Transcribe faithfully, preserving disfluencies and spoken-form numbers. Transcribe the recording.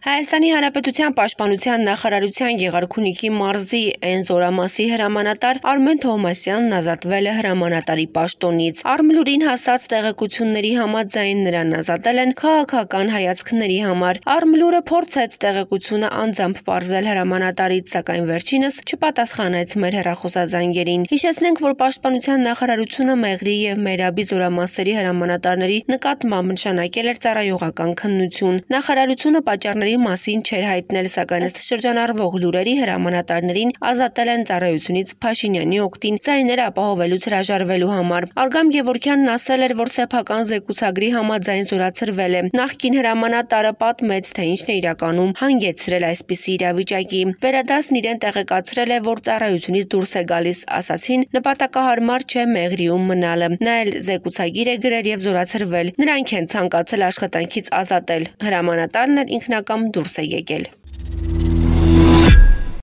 Հայաստանի Հանրապետության Պաշտպանության նախարարության Գեղարքունիքի մարզի Էն զորամասի հրամանատար Արմեն Թովմասյանն ազատվել է հրամանատարի պաշտոնից։ Արմլուրին հասած տեղեկությունների համաձայն նրան ազատել են քաղաքական հայացքների համար։ Արմլուրը փորձեց տեղեկությունը անձամբ պարզել հրամանատարից, սակայն վերջինս չպատասխանեց մեր հեռախոսազանգերին։ Հիշեցնենք, որ Պաշտպանության նախարարությունը Մեղրի և Մերաբի զորամասերի հրամանատարների նկատմամբ նշանակել էր ծառայողական քննություն։ Նախարարությունը պատճառների մասին չէր հայտնել, սակայն ըստ շրջանառվող լուրերի հրամանատարներին ազատել են ծառայությունից Փաշինյանի օգտին ձայներ ապահովելուց հրաժարվելու համար։ Արգամ Գևորգյանն ասել էր, որ սեփական զեկուցագրի համաձայն զորացրվել է։ Նախկին հրամանատարը պատմեց, թե ինչն է իրականում հանգեցրել այսպիսի իրավիճակի։ Վերադասն իրեն տեղեկացրել է, որ ծառայությունից դուրս է գալիս, ասացին նպատակահարմար չէ Մեղրիում մնալը։ Նա էլ զեկուցագիր է գրել և զորացրվել։ Նրանք են ցանկացել աշխատանքից ազատել։ Հրամանատարն էլ ինքնակամ դուրս է եկել։